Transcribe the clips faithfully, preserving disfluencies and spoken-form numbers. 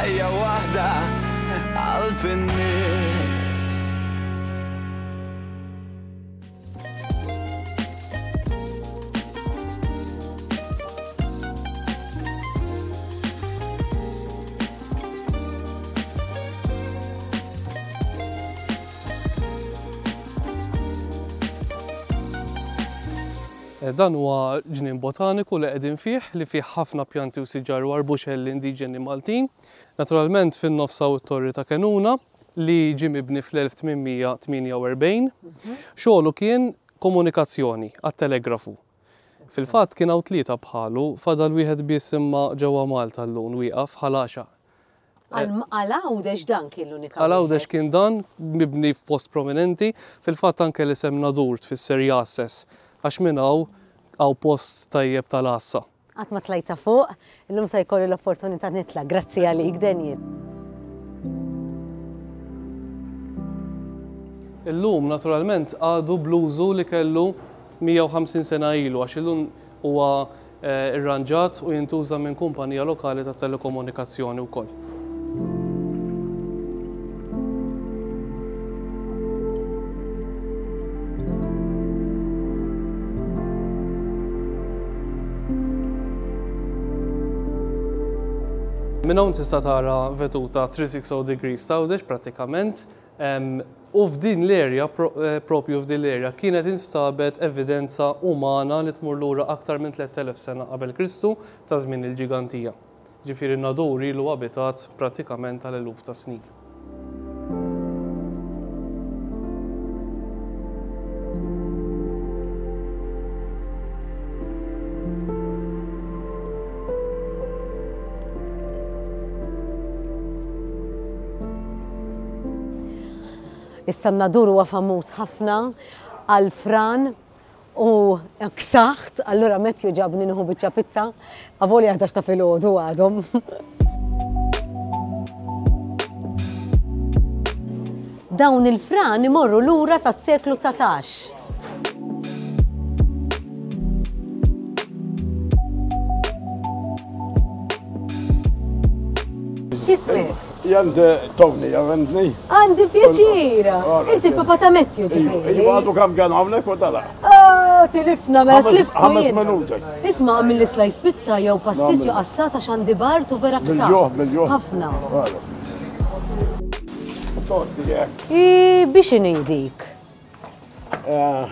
Ħajja waħda qalb in-nies. Dan huwa ġnien botaniku li qegħdin fih, li fih ħafna pjanti u siġar u arbuxelli indiġeni Maltin. Naturalment fin-nofs hawn it-Torri ta' Kenuna li ġie mibni fl-elf tmien mija tmienja u erbgħin. Xogħlu kien komunikazzjoni għat-telegrafu. Fil-fatt kien hawn tlieta bħalu, fadal wieħed biss imma ġewwa Malta llum wieqaf ħal għaxaq. Għal Għawdex dan kien l-unika Għal Għawdex wieħed. kien dan mibni f'post prominenti, fil-fatt anke l-isem Nadur tfisser jasses, għax minn hawn hawn post tajjeb tal-għassa. Qatt ma tlajta fuq, illum se jkolli l-opportunità nitla'. Grazzi għalik, Daniel. Illum naturalment għadu bl-użu li kellu mija u ħamsin sena ilu, għax illum huwa, eh, irranġat u jintuża minn kumpanija lokali ta' telekomunikazzjoni wkoll. Minn hawn tista' tara veduta three sixty degrees ta' Għawdex prattikament. Em, u f'din l-area, pro-, eh, propju f'din l-area, kienet instabet evidenza umana li tmur lura aktar minn tliet elef sena qabel Kristu ta' żmien il-ġigantija. Ġifieri n-Nadur ilu abitat prattikament għal eluf ta' snin. Issa n-Nadur huwa famuż ħafna għal-fran u ksaħt, allura Matthew ġabni nieħu biċċa pizza, avolja ħdax ta' filgħodu għadhom. Dawn il-fran imorru lura sas-seklu dsatax. X'ismek? Jant Tony, għandni. Għandi pjaċir. Alright. Inti l-papa ta' Matthew ġifieri. Iva, għadu kam kien hawnhekk u tala. Oh, tilifna, mela Ħames- tliftu ħames jien. minuti. Isma' għamil li slice pizza jew pasticcio Nagħmel. qassata x'għandi bart u vera ksaq. Bil-ġuħ, bil-ġuħ. Ħafna. Torti hekk. I biex inejdik? Eh,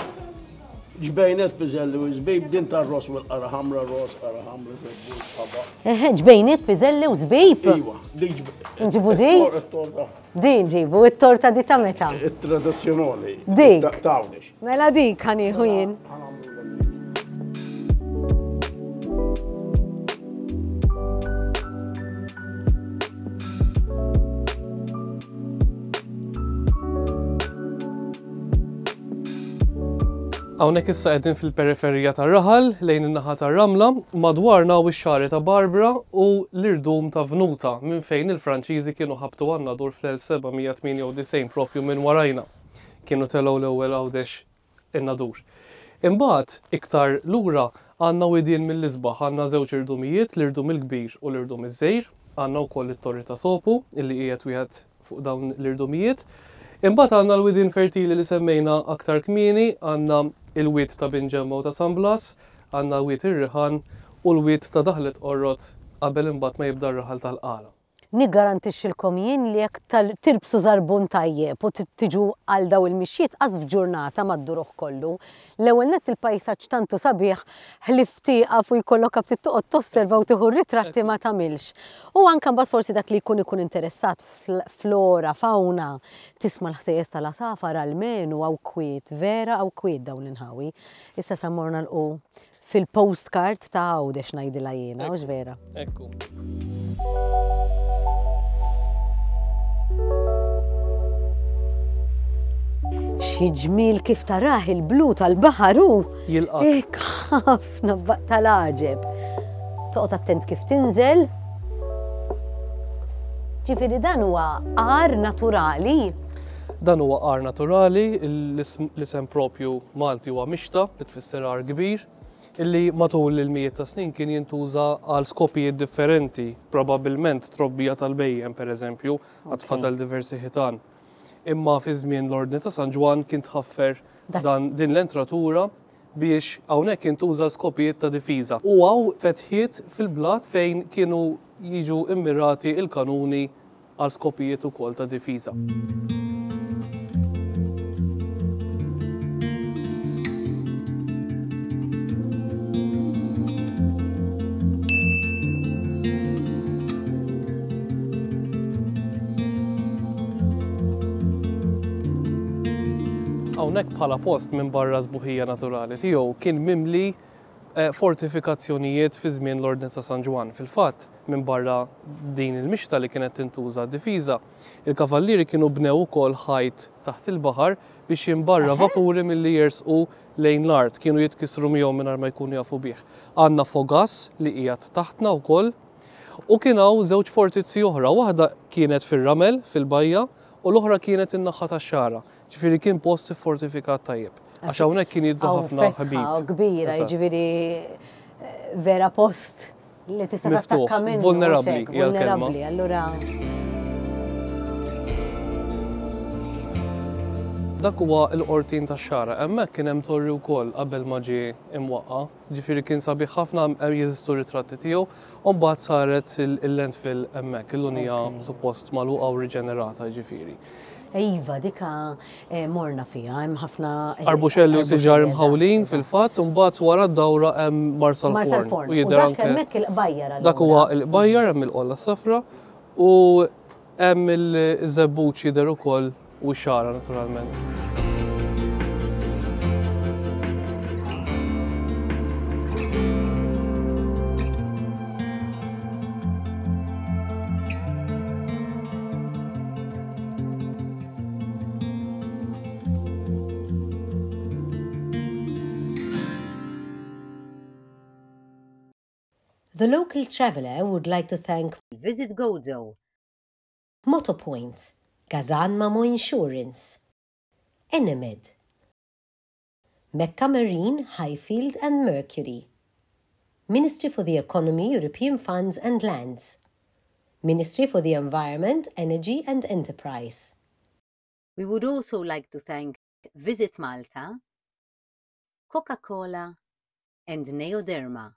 ġbejnet piżelli u żbib din tar-ros u l-qara ħamra, ros, qara ħamra, żebbuġ, ħaba. Eħe, ġbejnet piżelli u żbib? Iwa, dik ġb- Nġibu din? It-torta. Din ġibu, it-torta di ta' meta? It-tradizzjonali. Dik. Ta' Għawdex. Mela dik ħanieħu jien. Hawnhekk issa qegħdin fil-periferija tar-raħal lejn in-naħa tar-Ramla, madwarna u x-xagħri ta' Barbara u l-irdum ta' Vnuta minn fejn il-Franċiżi kienu ħabtu għan-Nadur fl-elf seba' mija tmienja u disgħin propju minn warajna. Kienu telgħu l-ewwel Għawdex in-Nadur. Imbagħad iktar lura għandna widien mill-isbaħ, għandna żewġ irdumijiet, l-irdum il-kbir u l-irdum iż-żgħir, għandna wkoll it-Torri ta' Sopu illi qiegħed wieħed fuq dawn l-irdumijiet. Imbagħad għandna l-widien fertili li semmejna aktar kmieni, għandna il-wied ta' Binġemma u ta' San Blas, għandna wied ir-Riħan u l-wied ta' Daħlet Qorrot qabel imbagħad ma jibda r-raħal tal-Qala. Niggarantixxilkom jien li jekk tal-, tirbsu żarbun tajjeb u tiġu għal daw il-mixjiet qas f'ġurnata mad-duruħ kollu. L-ewwel nett il-pajsaġġ tantu sabiħ ħlif tieqaf u jkollok aptit toqgħod tosserva u tieħu r-ritratti ma tagħmilx. U anke mbagħad forsi dak li jkun ikun interessat fl-, flora, fauna, tisma' l-ħsejjes tal-għasafar almenu hawn kwiet, vera hawn kwiet dawn l-inħawi. Issa sa morna l-qu fil-postcard ta' Għawdex ngħidilha jiena, hux vera? Ekku. Xi ġmiel kif tarah il-blu tal-baħar hu. Jilqak. Ek ħafna tal-għaġeb. Toqgħod attent kif tinżel. Ġifieri dan huwa għar naturali. Dan huwa għar naturali, l-isem propju Malti huwa mixta, li tfisser għar kbir. Illi matul il-mijiet ta' snin kien jintuża għal skopijiet differenti, probabbilment trobbija tal-bhejjem pereżempju, għad fadal diversi ħitan. Imma fi żmien l-Ordni ta' San Ġwann kien tħaffer dan din l-entratura biex hawnhekk jintuża skopijiet ta' difiża. U hawn fetħiet fil-blat fejn kienu jiġu immirati il-kanuni għal skopijiet ukoll ta' difiża. Hawnhekk bħala post minn barra sbuħija naturali tiegħu kien mimli fortifikazzjonijiet fi żmien l-Ordni ta' San Ġwann. Fil-fatt, minn barra din il-mixta li kienet tintuża d-difiża, il-kavallieri kienu bnew ukoll ħajt taħt il-baħar biex jimbarra vapuri milli jersqu lejn l-art, kienu jitkissru miegħu mingħajr ma jkunu jafu bih. Għandna fogas li qiegħed taħtna wkoll u kien hawn żewġ fortizzi oħra, waħda kienet fir-ramel fil-bajja u l-oħra kienet in-naħa tax-xagħra. Ġifieri kien post fortifikat tajjeb. Għax hawnhekk kien jiddu ħafna ħbit. Kbira, jiġifieri vera post li tista' tattakka minnu. Vulnerabbli, vulnerabbli, allura. Dak huwa l-qortin tax-xagħra. Hemmhekk kien hemm torri wkoll qabel ma ġie imwaqqa. Ġifieri kien sabiħ ħafna, jeżistu ritratti tiegħu, u mbagħad saret il-landfill hemmhekk, illum hija suppost magħluqa u riġenerata ġifieri. Iva, dika morna fiha, hemm ħafna arbuxelli u siġar imħawlin fil-fatt, u mbagħad wara d-dawra hemm Marsalforn. U jidher anke hemmhekk il-qbajjar. Dak huwa l-qbajjar hemm il-qolla safra u hemm il-żebbuġ jidher ukoll u x-xagħra naturalment. The local traveller would like to thank Visit Gozo, Motopoint, Gazan Mamo Insurance, Enemed, Mecca Marine, Highfield and Mercury, Ministry for the Economy, European Funds and Lands, Ministry for the Environment, Energy and Enterprise. We would also like to thank Visit Malta, Coca-Cola and Neoderma.